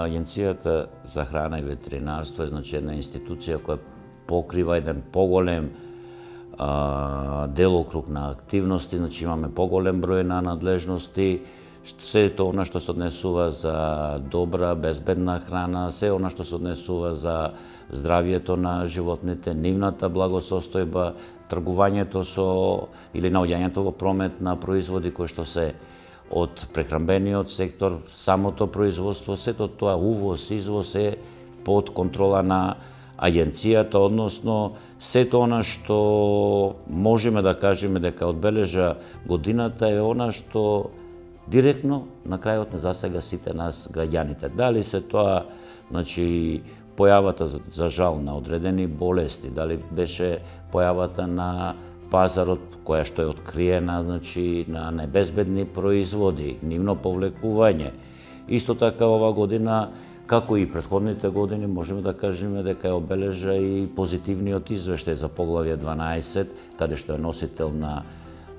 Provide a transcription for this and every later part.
Агенцијата за храна и ветеринарство е една институција која покрива еден поголем делокруг на активности, имаме поголем број на надлежности, се тоа што се однесува за добра, безбедна храна, се она што се однесува за здравието на животните, нивната благосостојба, тргувањето со или наоѓањето во промет на производи кои што се од прехранбениот сектор, самото производство, сето тоа увоз, извоз е под контрола на агенцијата, односно сето она што можеме да кажеме дека одбележа годината е она што директно на крајот не засега сите нас граѓаните. Дали се тоа, појавата за жал на одредени болести, дали беше појавата на пазарот која што е откриена, на небезбедни производи, нивно повлекување. Исто така ова година, како и претходните години, можеме да кажеме дека ја обележа и позитивниот извештај за поглавје 12, каде што е носител на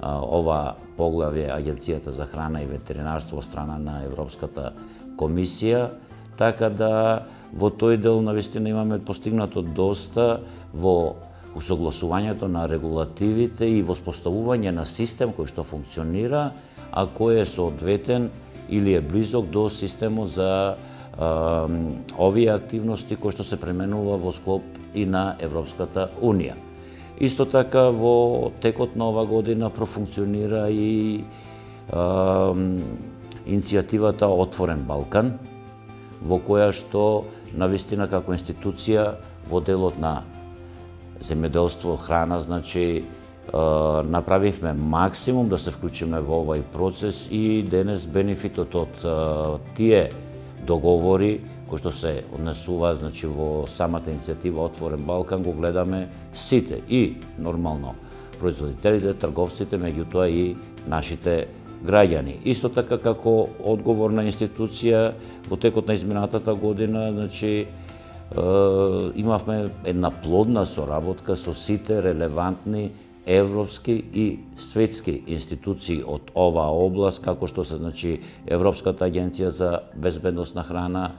ова поглавје Агенцијата за храна и ветеринарство од страна на Европската комисија, така да во тој дел навистина имаме постигнато доста во усогласувањето на регулативите и воспоставување на систем кој што функционира, а кој е соодветен или е близок до системот за овие активности кои што се пременува во склоп и на Европската Унија. Исто така во текот на ова година профункционира и иницијативата Отворен Балкан, во која што навистина како институција во делот на земјоделство, храна, направивме максимум да се вклучиме во овој процес и денес бенефитот од тие договори кои што се однесуваат во самата иницијатива Отворен Балкан го гледаме сите и нормално производителите, трговците, меѓутоа и нашите граѓани. Исто така како одговорна институција во текот на изминатата година, имавме една плодна соработка со сите релевантни европски и светски институции од оваа област, како што се Европската агенција за безбедност на храна,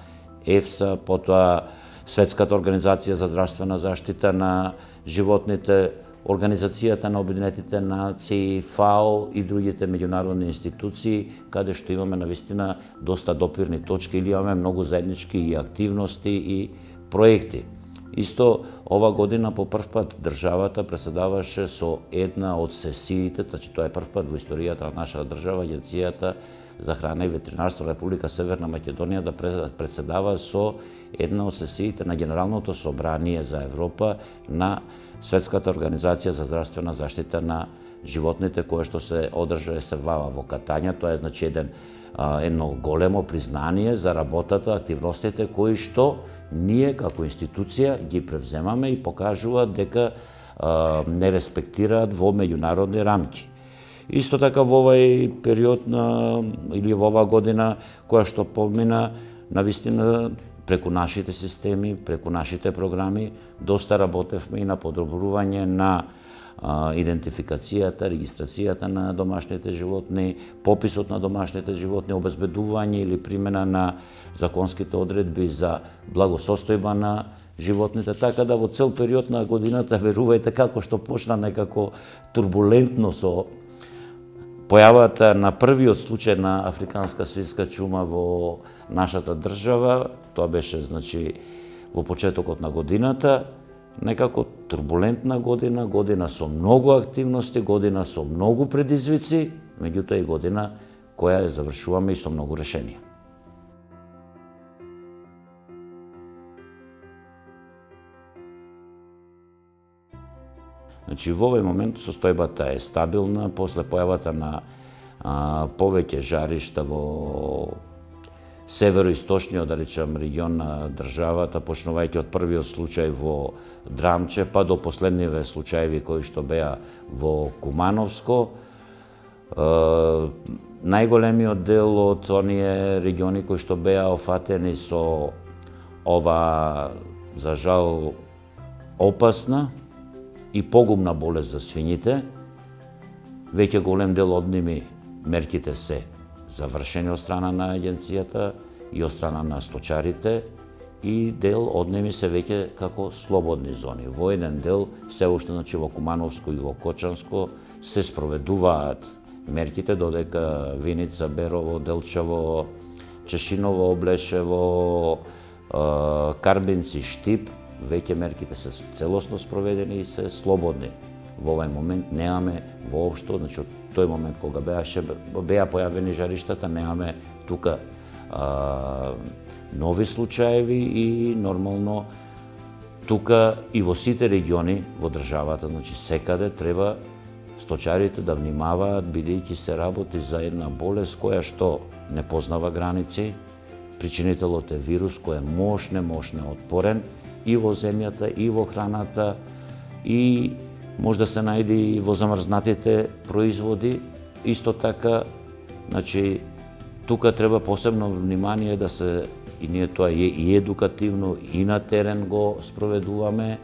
ЕФСА, потоа Светската организација за здравствена заштита на животните, Организацијата на Обединетите нации, ФАО и другите меѓународни институции, каде што имаме навистина доста допирни точки или имаме многу заеднички и активности и проекти. Исто ова година по прв пат државата преседаваше со една од сесиите, тоа е прв пат во историјата на нашата држава, Агенцијата за храна и ветеринарство Република Северна Македонија да преседава со една од сесиите на Генералното собрание за Европа на Светската организација за здравствена заштита на животните, кое што се одржа СВА во Катања. Тоа е едно големо признание за работата, активностите кои што ние како институција ги превземаме и покажуваат дека не респектираат во меѓународни рамки. Исто така во овој период или во оваа година која што помина, навистина преку нашите системи, преку нашите програми, доста работевме и на подобрување на идентификацијата, регистрацијата на домашните животни, пописот на домашните животни, обезбедување или примена на законските одредби за благосостојба на животните, така да во цел период на годината, верувајте, како што почна некако турбулентно со појавата на првиот случај на африканска свинска чума во нашата држава, тоа беше во почетокот на годината, некако турбулентна година, година со многу активности, година со многу предизвици, меѓутоа и година која ја завршуваме и со многу решенија. Во овој момент состојбата е стабилна, после појавата на повеќе жаришта во североисточниот, да речем, регион на државата, почнувајќи од првиот случај во Драмче, па до последниве случаеви кои што беа во Кумановско. Најголемиот дел од оние региони кои што беа офатени со ова, за жал, опасна и погубна болест за свињите, веќе голем дел од ними мерките се завршени од страна на агенцијата и од страна на сточарите, и дел од ними се веќе како слободни зони. Во еден дел, се уште во Кумановско и во Кочанско, се спроведуваат мерките, додека Виница, Берово, Делчево, Чешиново, Облешево, Карбинци, Штип, веќе мерките се целосно спроведени и се слободни. Во овај момент немаме воопшто, значи од тој момент кога беа појавени жариштата, немаме тука нови случаеви и нормално тука и во сите региони во државата, значи секаде треба сточарите да внимаваат, бидејќи се работи за една болест која што не познава граници, причинителот е вирус кој е мощно отпорен и во земјата, и во храната, и може да се најде и во замрзнатите производи. Исто така, значи, тука треба посебно внимание да се, и ние тоа и едукативно, и на терен го спроведуваме,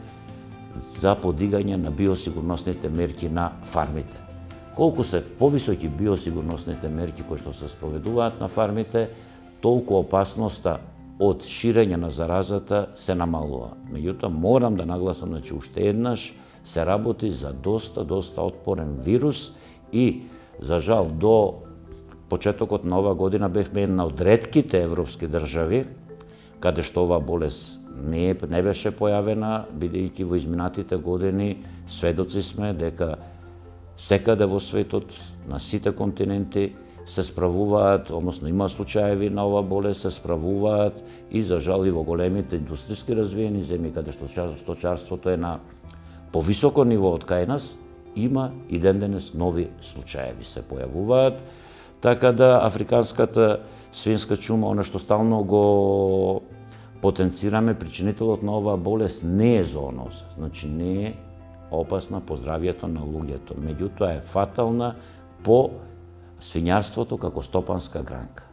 за подигање на биосигурносните мерки на фармите. Колку се повисоки биосигурносните мерки кои што се спроведуваат на фармите, толку опасноста од ширење на заразата се намалува. Меѓутоа, морам да нагласам, значи, уште еднаш се работи за доста отпорен вирус и, за жал, до почетокот на ова година бевме една од ретките европски држави каде што оваа болест не беше појавена, бидејќи во изминатите години сведоци сме дека секаде во светот, на сите континенти, се справуваат, односно има случаеви на оваа болест, се справуваат и, за жал, и во големите индустријски развиени земји, каде што сточарството е на повисоко ниво од кај нас, има и ден-денес нови случаеви се појавуваат. Така да африканската свинска чума, она што стално го потенцираме, причинителот на оваа болест не е зооноза, значи не е опасна по здравието на луѓето, меѓутоа е фатална по свињарството како стопанска гранка.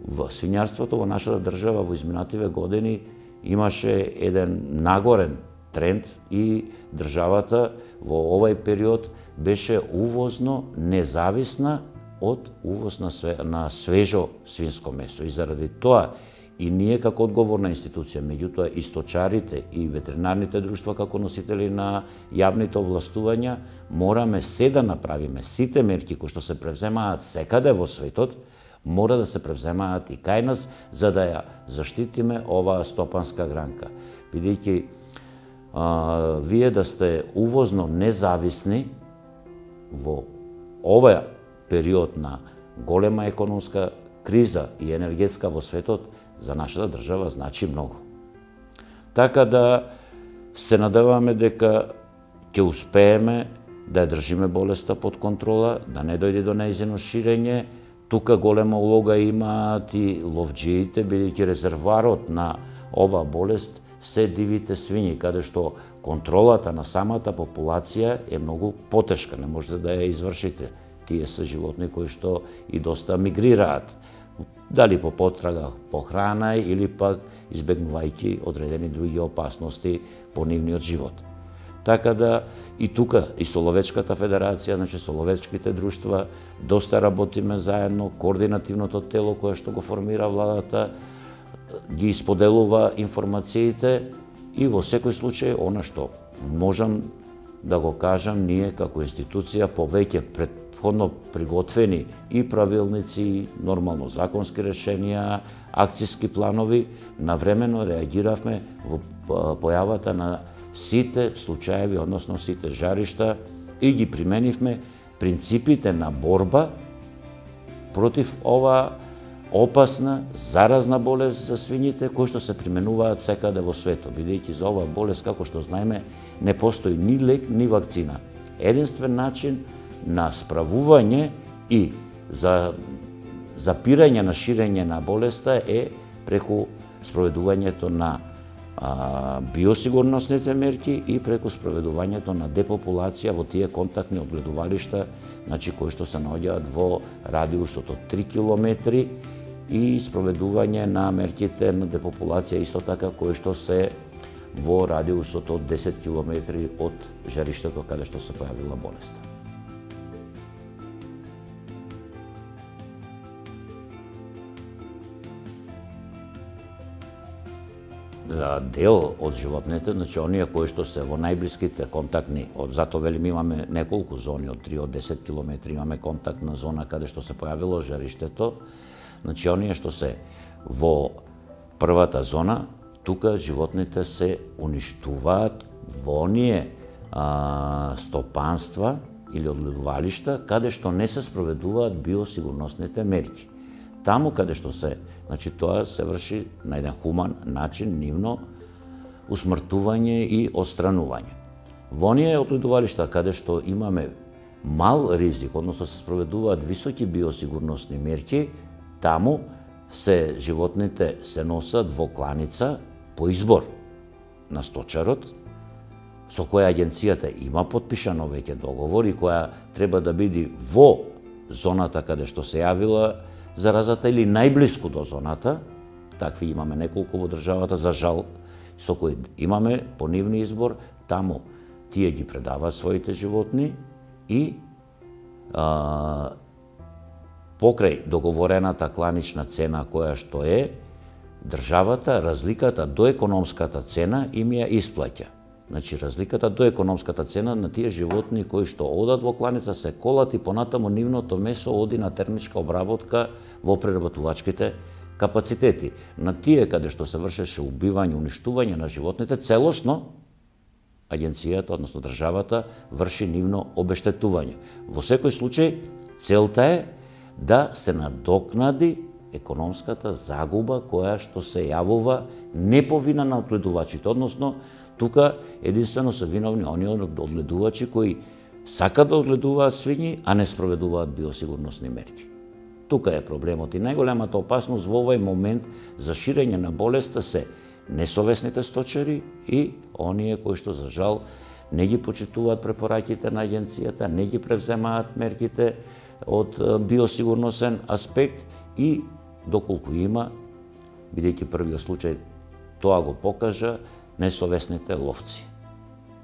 Во свињарството во нашата држава во изминативе години имаше еден нагорен тренд и државата во овај период беше увозно независна од увоз на свежо свинско месо. И заради тоа и ние како одговорна институција, меѓутоа и сточарите и ветеринарните друштва како носители на јавните овластувања, мораме се да направиме сите мерки кои што се превземаат секаде во светот, мора да се превземаат и кај нас, за да ја заштитиме оваа стопанска гранка. Бидејќи вие да сте увозно независни во овој период на голема економска криза и енергетска во светот, за нашата држава значи многу. Така да се надеваме дека ќе успееме да ја држиме болеста под контрола, да не дојде до нејзино ширење. Тука голема улога имаат и ловџиите, бидејќи резерварот на оваа болест се дивите свињи, каде што контролата на самата популација е многу потешка, не можете да ја извршите. Тие се животни кои што и доста мигрираат, дали по потрага по храна или пак избегнувајќи одредени други опасности по нивниот живот. Така да и тука и со Ловечката федерација, значи со ловечките друштва, доста работиме заедно, координативното тело кое што го формира владата ги споделува информациите и во секој случај она што можам да го кажам, ние како институција повеќе предходно приготвени и правилници, нормално законски решенија, акциски планови, навремено реагиравме во појавата на сите случаеви, односно сите жаришта, и ги применивме принципите на борба против ова опасна, заразна болест за свињите, кои што се применуваат секаде во светот, бидејќи за оваа болест, како што знаеме, не постои ни лек, ни вакцина. Единствен начин на справување и за запирање на ширење на болеста е преку спроведувањето на биосигурносните мерки и преку спроведувањето на депопулација во тие контактни одгледувалишта, значи кои што се наоѓаат во радиусот од 3 километри, и спроведување на мерките на депопулација исто така кои што се во радиусот од 10 километри од жариштето каде што се појавила болеста. дел од животните, значи оние кои што се во најблиските контактни, затоа велим имаме неколку зони од 3 од 10 километри, имаме контактна зона каде што се појавило жариштето, значи оние што се во првата зона, тука животните се уништуваат во оние стопанства или одледувалишта каде што не се спроведуваат биосигурносните мерки. Таму каде што се, значи тоа се врши на еден хуман начин, нивно усмртување и отстранување. Во оние одледувалишта каде што имаме мал ризик, односно се спроведуваат високи биосигурносни мерки, таму животните се носат во кланица по избор на сточарот, со која агенцијата има потпишано веќе договор и која треба да биде во зоната каде што се јавила заразата или најблиску до зоната. Такви имаме неколку во државата, за жал, со кои имаме по нивни избор, таму тие ги предаваат своите животни и покрај договорената кланична цена која што е, државата разликата до економската цена им ја исплаќа. Значи, разликата до економската цена на тие животни кои што одат во кланица се колат и понатаму нивното месо оди на термичка обработка во преработувачките капацитети. На тие каде што се вршеше убивање, уништување на животните, целосно агенцијата, односно државата, врши нивно обештетување. Во секој случај, целта е да се надокнади економската загуба која што се јавува не по вина на одледувачите, односно тука единствено се виновни оние одледувачи кои сакат да одледуваат свињи, а не спроведуваат биосигурносни мерки. Тука е проблемот и најголемата опасност во овој момент за ширење на болеста се несовесните сточари и оние кои што за жал не ги почитуваат препораките на агенцијата, не ги превземаат мерките од биосигурносен аспект и доколку има, бидејќи првиот случај тоа го покажа, несовесните ловци.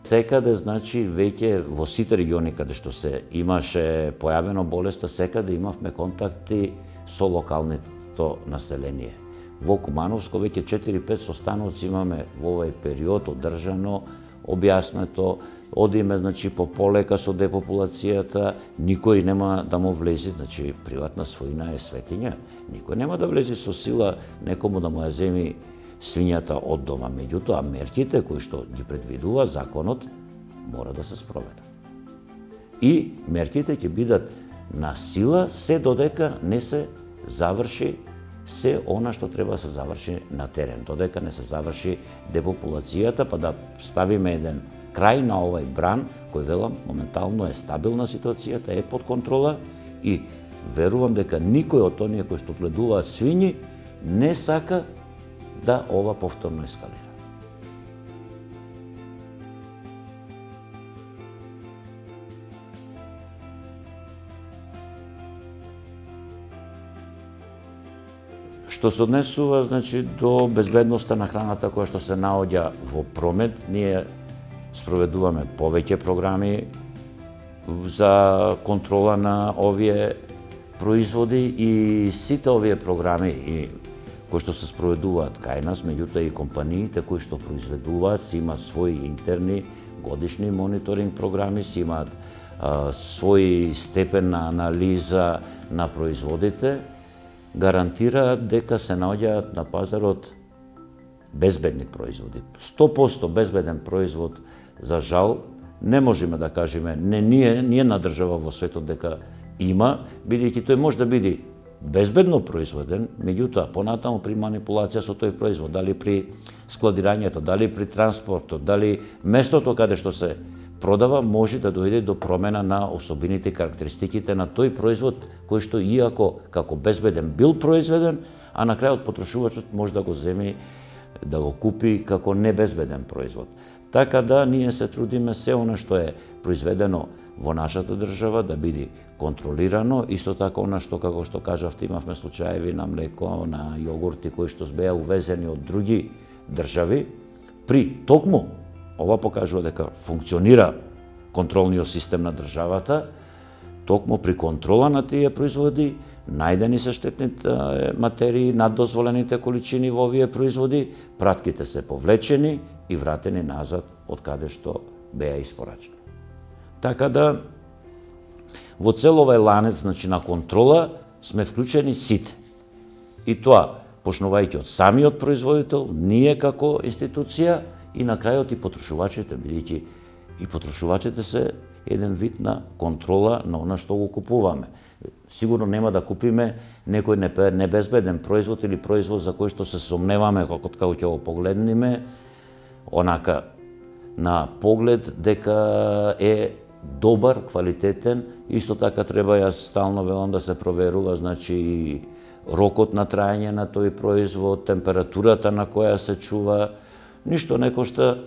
Секаде, значи, веќе во сите региони каде што се имаше појавено болеста, секаде имавме контакти со локалното население. Во Кумановско веќе 4-5 состаноци имаме во овој период одржано, објаснето, одиме, значи, по полека со депопулацијата, никој нема да му влези, значи, приватна својина е светиња, никој нема да влези со сила некому да му ја земи свињата од дома. Меѓутоа, мерките кои што ги предвидува законот мора да се спроведат. И мерките ќе бидат на сила се додека не се заврши се она што треба да се заврши на терен, додека не се заврши депопулацијата, па да ставиме еден крај на овој бран, кој велам моментално е стабилна ситуацијата, е под контрола и верувам дека никој од оние кои што одледуваат свињи не сака да ова повторно ескалира. Што се однесува, значи, до безбедноста на храната која што се наоѓа во промет, ние спроведуваме повеќе програми за контрола на овие производи и сите овие програми кои што се спроведуваат кај нас, меѓутоа и компаниите кои што произведуваат си имаат своји интерни годишни мониторинг програми, си имаат свој степен на анализа на производите, гарантираат дека се наоѓаат на пазарот безбедни производи. 100% безбеден производ, за жал, не можеме да кажеме, не една држава во светот дека има, бидејќи тој може да биде безбедно производен, меѓутоа понатаму при манипулација со тој производ, дали при складирањето, дали при транспортот, дали местото каде што се продава, може да дојде до промена на особините и карактеристиките на тој производ, кој што иако како безбеден бил произведен, а на крајот потрошувачот може да го земи, да го купи како небезбеден производ. Така да ние се трудиме се она што е произведено во нашата држава да биде контролирано, исто така она што, како што кажавте, имавме случаеви на млеко, на јогурти кои што беа увезени од други држави, при токму ова покажува дека функционира контролниот систем на државата, токму при контрола на тие производи најдени се штетните материи над дозволените количини во овие производи, пратките се повлечени и вратени назад од каде што беа испорачени. Така да, во цел овај ланец, значи, на контрола сме вклучени сите. И тоа, почнувајќи од самиот производител, ние како институција и на крајот и потрошувачите, бидејќи и потрошувачите се еден вид на контрола на она што го купуваме. Сигурно нема да купиме некој небезбеден производ или производ за кој што се сомневаме како ќе го погледнеме, онака на поглед дека е добар, квалитетен. Исто така треба, јас стално велам, да се проверува, значи, рокот на траење на тој производ, температурата на која се чува. Ништо не кошта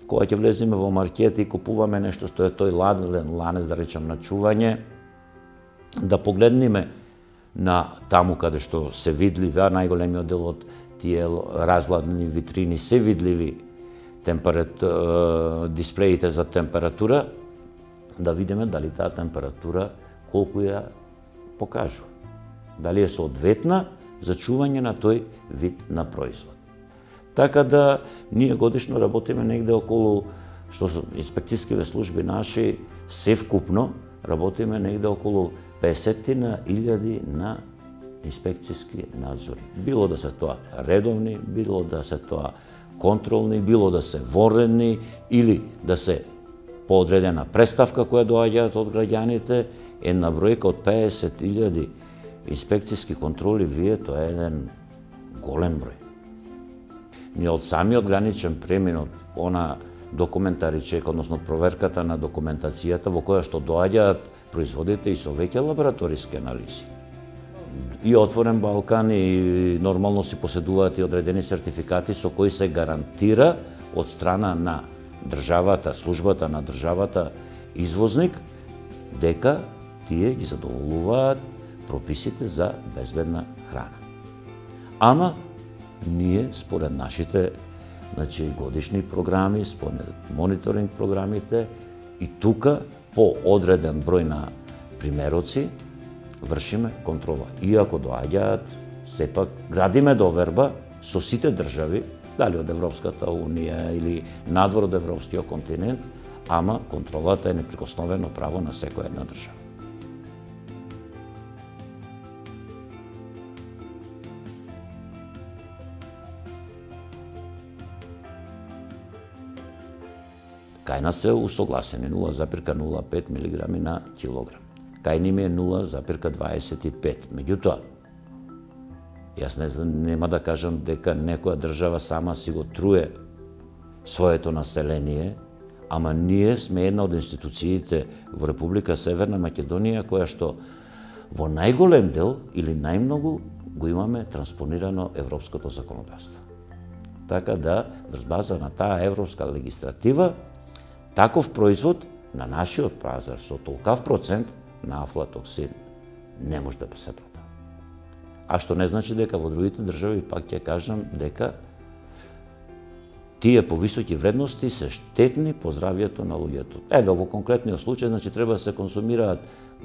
кога ќе влеземе во маркет и купуваме нешто што е тој ладен ланец, да речем, на чување, да погледнеме на таму каде што се видливи, а најголемиот дел од тие разладни витрини се видливи дисплеите за температура, да видиме дали таа температура колку ја покажува. Дали е соодветна за чување на тој вид на производ. Така да, ние годишно работиме негде околу, што се инспекцијските служби наши, севкупно работиме негде околу 50.000 на инспекцијски надзори. Било да се тоа редовни, било да се тоа контролни, било да се вонредни или да се по одредена представка која доаѓаат од граѓаните, една бројка од 50.000 инспекцијски контроли, вие, тоа е еден голем број. Ние од самиот граничен премин, она документари чек, односно проверката на документацијата во која што доаѓаат производите и со веќе лабораториски анализи. И Отворен Балкан и нормално си поседуваат и одредени сертификати со кои се гарантира од страна на државата, службата на државата извозник, дека тие ги задоволуваат прописите за безбедна храна. Ама ние според нашите, значи, годишни програми, според мониторинг програмите и тука по одреден број на примероци вршиме контрола. Иако доаѓаат, сепак градиме доверба со сите држави, дали од Европската Унија или надвор од Европскиот континент, ама контролата е неприкосновено право на секоја една држава. Кај нас се усогласени 0,05 мг на килограм. Кај ними е 0,25. Меѓутоа, јас нема да кажам дека некоја држава сама си го труе своето население, ама ние сме една од институциите во Република Северна Македонија која што во најголем дел или најмногу го имаме транспонирано европското законодавство. Така да, врз база на таа европска легистратива, таков производ на нашиот пазар со толкав процент на афлатоксин не може да се продава. А што не значи дека во другите држави, пак ќе кажам, дека тие повисоки вредности се штетни по здравјето на луѓето. Еве, во конкретниот случај, значи, треба да се консумираат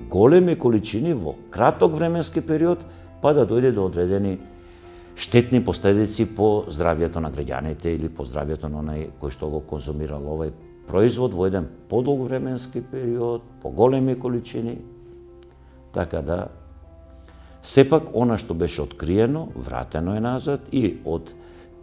големи количини во краток временски период, па да дојде до одредени штетни последици по здравјето на граѓаните или по здравјето на онај кој што го консумирал овај производ во еден подолг временски период, по големи количини. Така да, сепак, она што беше откриено, вратено е назад и од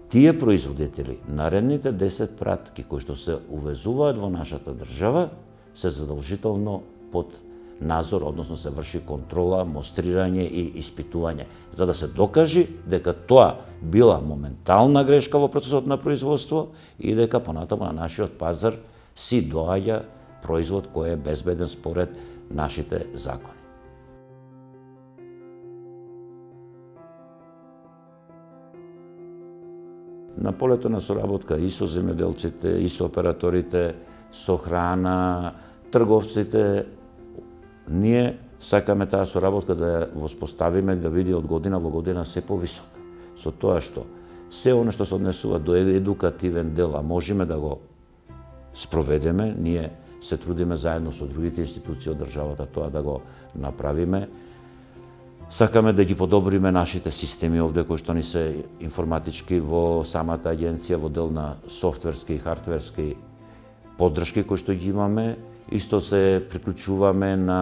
тие производители, наредните 10 пратки кои што се увезуваат во нашата држава, се задолжително под надзор, односно се врши контрола, мострирање и испитување, за да се докажи дека тоа била моментална грешка во процесот на производство и дека понатаму на нашиот пазар си доаѓа производ кој е безбеден според нашите закони. На полето на соработка и со земјоделците, и со операторите, со храна, трговците, ние сакаме таа соработка да ја воспоставиме, да биде од година во година се повисока. Со тоа што се оно што се однесува до едукативен дел, а можеме да го спроведеме, ние се трудиме заедно со другите институции од државата тоа да го направиме. Сакаме да ги подобриме нашите системи овде кои што ни се информатички во самата агенција, во дел на софтверски и хардверски поддршки кои што ги имаме. Исто се приклучуваме на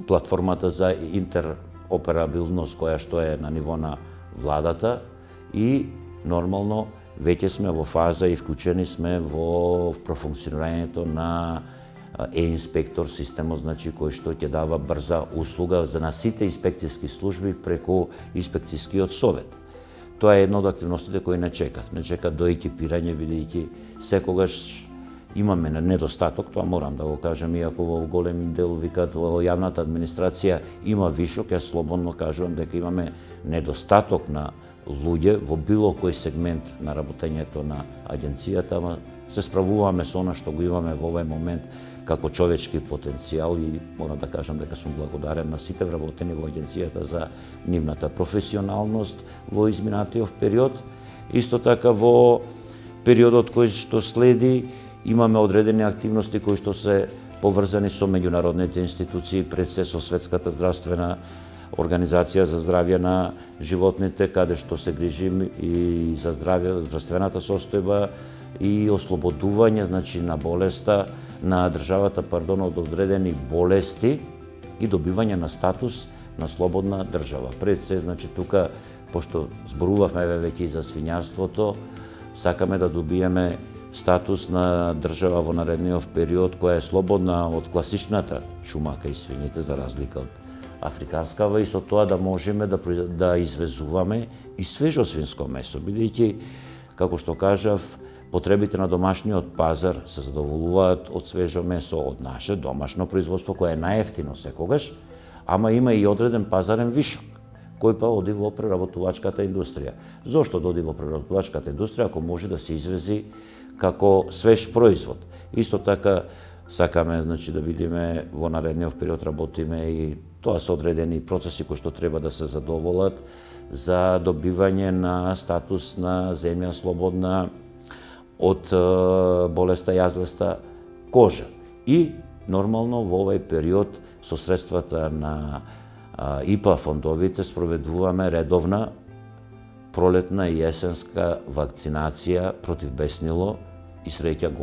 платформата за интероперабилност која што е на ниво на владата и нормално веќе сме во фаза и вклучени сме во профункционирањето на е-инспектор системот, значи кој што ќе дава брза услуга за на сите инспекцијски служби преку инспекцијскиот совет. Тоа е една од активностите кои не чекат. Не чекат до екипирање, бидејќи секогаш имаме недостаток, тоа морам да го кажам, иако во голем дел викат во јавната администрација има вишок, јас слободно кажувам дека имаме недостаток на луѓе во било кој сегмент на работењето на агенцијата, ама се справуваме со она што го имаме во овој момент како човечки потенцијал и морам да кажам дека сум благодарен на сите вработени во агенцијата за нивната професионалност во изминатиот период. Исто така во периодот кој што следи имаме одредени активности кои што се поврзани со меѓународните институции, пред се со Светската здравствена Организација за здравје на животните, каде што се грижим и за здравствената состојба и ослободување, значи на болеста, на државата, од одредени болести и добивање на статус на слободна држава. Пред се, значи тука, пошто зборувавме веќе и за свињарството, сакаме да добиеме статус на држава во наредниот период која е слободна од класичната чумака и свињите, за разлика од африканскава, и со тоа да можеме да извезуваме и свежо свинско месо, бидејќи, како што кажав, потребите на домашниот пазар се задоволуваат од свежо месо, од наше домашно производство, кое е најевтино секогаш, ама има и одреден пазарен вишок, кој па оди во преработувачката индустрија. Зошто да оди во преработувачката индустрија ако може да се извези како свеж производ? Исто така сакаме, значи, да видиме во наредниот период, работиме и тоа се одредени процеси кои што треба да се задоволат за добивање на статус на земја слободна од болеста јазлеста кожа. И нормално во овој период со средствата на ИПА фондовите спроведуваме редовна пролетна и есенска вакцинација против беснило и среќа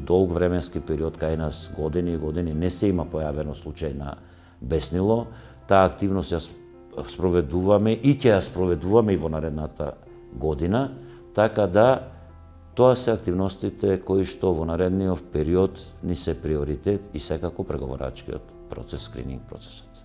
долг временски период кај нас години и години не се има појавено случај на беснило. Таа активност ја спроведуваме и ќе ја спроведуваме и во наредната година, така да тоа се активностите кои што во наредниот период ни се приоритет и секако преговорачкиот процес, скрининг процесот.